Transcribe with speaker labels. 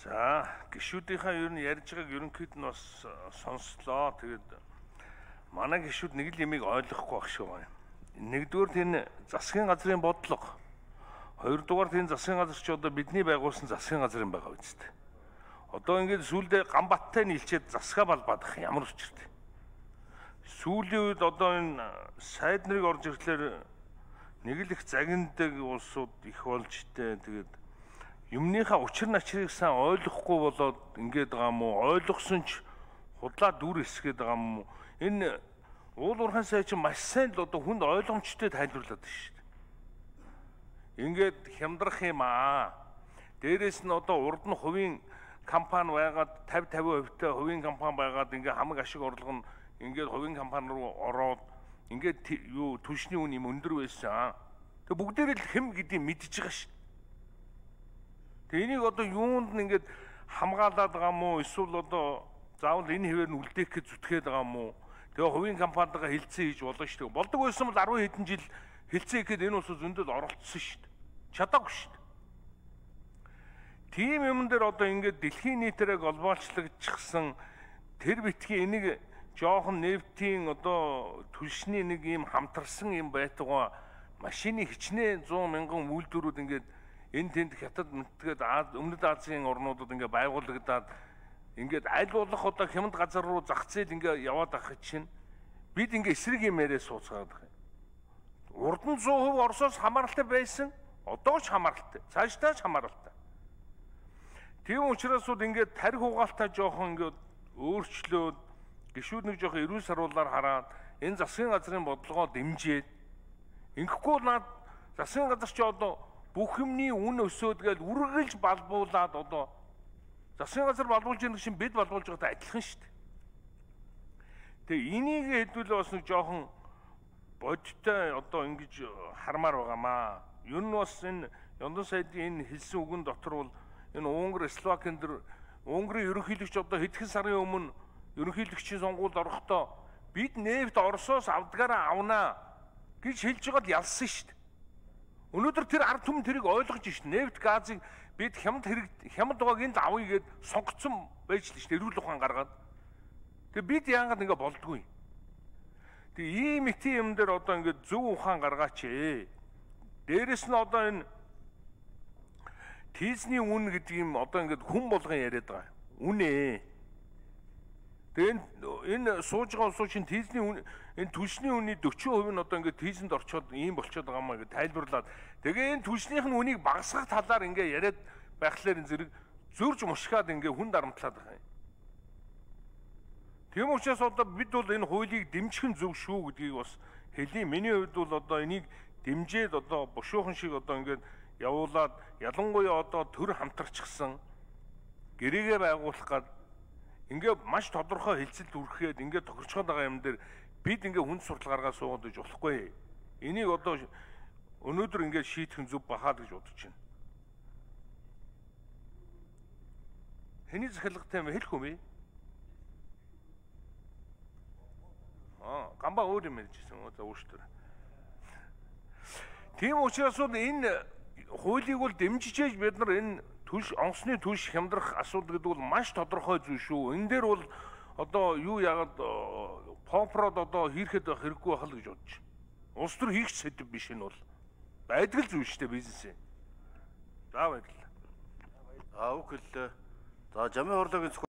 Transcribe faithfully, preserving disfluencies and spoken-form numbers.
Speaker 1: За, гишүүдийнхаа ер нь ярьж байгааг ерөнхийд нь бас сонслоо. Тэгээд манай гишүүд нэг л ямиг ойлгохгүй байх шүү байна. Нэгдүгээр энэ засгийн газрын бодлого. Хоёрдугаар энэ засгийн газар ч одоо бидний байгуулсан засгийн газрын байгаа үстэй. Одоо ингээд сүүлдээ Ганбаттай нийлчээд засгаа балбаадах ямар учиртай. Сүүлийн үед одоо энэ сайд нарыг орж ирэхлээр нэг л их загиндаг улсууд их болж тээ. Тэгээд юмныхаа учир начрыг сайн ойлгохгүй болоод ингээд байгаа юм уу? Ойлгосон ч худлаа дүр эсгээд байгаа юм уу? Энэ уул уурхайн сайд чинь маш сайн л одоо хүнд ойлгомжтой тайлбарлаад байна шүү дээ. Ингээд хямдрах юм аа. Дээрээс нь одоо урд нь хувийн компани байгаад тавь тавин хувьтай хувийн компани байгаад ингээд хамаг ашиг орлого нь ингээд хувийн компани руу ороод ингээд юу түвшний үн юм өндөр байсан. Тэг бүгдээрээ л хэм гэдгийг мэдчихэж байгаа шүү. Тэг энийг одоо юунд нь ингээд хамгаалаад байгаа юм уу? Эсвэл одоо заавал энэ хэвээр нь үлдээх гэж зүтгээд байгаа юм уу? Тэгээ хувийн компанитайгаа хилцээ хийж болно шүү дээ. Болдог байсан бол арван хэдэн жил хилцээ хийхэд энэ улсад зөндөл оролцсон шүү дээ. Чадаагүй шүү дээ. Тийм юм дээр одоо ингээд дэлхийн нийтээрээ глобалчлагдчихсан тэр битгий энийг жоохон нефтийн одоо түлшний нэг юм хамтарсан юм байтугай машины хичнээн зуун мянган үйлдвэрүүд ингээд энэ тэнд хятад мэдгээд өмнөд Азийн орнуудад ингээд байгуулагдаад ингээд аль болох одоо хямд газар руу зах зээл ингээд яваад авах чинь бид ингээд эсрэг юм яриа сууцгаад байгаа юм. Урд нь сто хувь Оросоос хамааралтай байсан, одоо ч хамааралтай, цаашдаа ч хамааралтай. Тийм учраас бол ингээд тарих угаалтаа жоохон ингээд өөрчлөөд гишүүд нэг жоохон эрүүл саруулаар хараад энэ засгийн газрын бодлогоо дэмжиж ингэхгүй наад засгийн газар ч одоо бүх юмний үн өсөөд гээл үргэлж балбуулаад одоо засгийн газар балбуулж байгаа чинь бид балбуулж байгаатай адилхан шүү дээ. Тэгээ энийг хэдүүлээ бас нэг жоохон бодтой одоо ингэж хармаар байгаамаа. Ер нь бас энэ Ёндон сайдын энэ хэлсэн үгэн дотор бол энэ Унгар, Словакийн дэр Унгарын ерөнхийлөгч одоо хэдхэн сарын өмнө ерөнхийлөгчийн сонгуульд орохдоо бид нефт Оросоос авдгаараа авнаа гэж хэлж байгаад ялсан шүү дээ. Өнөөдөр тэр ард түмэн тэрийг ойлгож шít. Нефт газыг бид хямд хэрэг хямд байгааг энд авъя гэд сонгоцсон байж л шít. Эрүүл ухаан гаргаад. Тэгээ бид яагаад ингэ болдгүй. Тэгээ ийм их юм дээр одоо ингэ зөв ухаан гаргаач ээ. Дээрэс нь одоо энэ тийзний үн гэдэг юм одоо ингэ хүн болгон яриад байгаа. Үнэ. Тэгээ энэ сууж байгаа улсууд чинь тийзний үн энэ түлшний үнийн дөрвөн хувь нь одоо ингээд тийзэнд орчоод ийм болчиход байгаа маа гэж тайлбарлаад тэгээ энэ түлшнийх нь үнийг багасгах талаар ингээд яриад байхлаар энэ зэрэг зөрж мушгаад ингээд хүн дарамтлаад байгаа юм. Тийм учраас одоо бид бол энэ хуулийг дэмжих нь зөв шүү гэдгийг бас хэлье. Миний хувьд бол одоо энийг дэмжээд одоо бушуухан шиг одоо ингээд явуулаад ялангуяа одоо төр хамтарчихсан гэрээгээ байгуулах гад ингээ маш тодорхой хэлцэлд үргэхэд ингээ тохирчгоод байгаа юм дээр бид ингээ хүнд суртал гаргаад суугаад иж болохгүй. Энийг одоо өнөөдөр ингээ шийдэх нь зөв бахаад гэж бодож байна. Хэний захиалгатай юм хэлэх юм бэ? Аа, гамбаа өөр юм ярьжсэн үү за ууштэр. Тийм учраас бол энэ хуулийг бол дэмжижээж бид нар энэ түлш онцны түлш хямдрах асуудал гэдэг бол маш тодорхой зүйл шүү. Энэ дээр бол одоо юу яагаад попрод одоо хийхэд байх хэрэггүй байх л гэж бодож байна. Улс төр хийх сэдв биш энэ бол. Байдгал зүйл шүү дээ бизнесээ. За баярлалаа.
Speaker 2: Аа үгүй л. За жамын хорлоогийн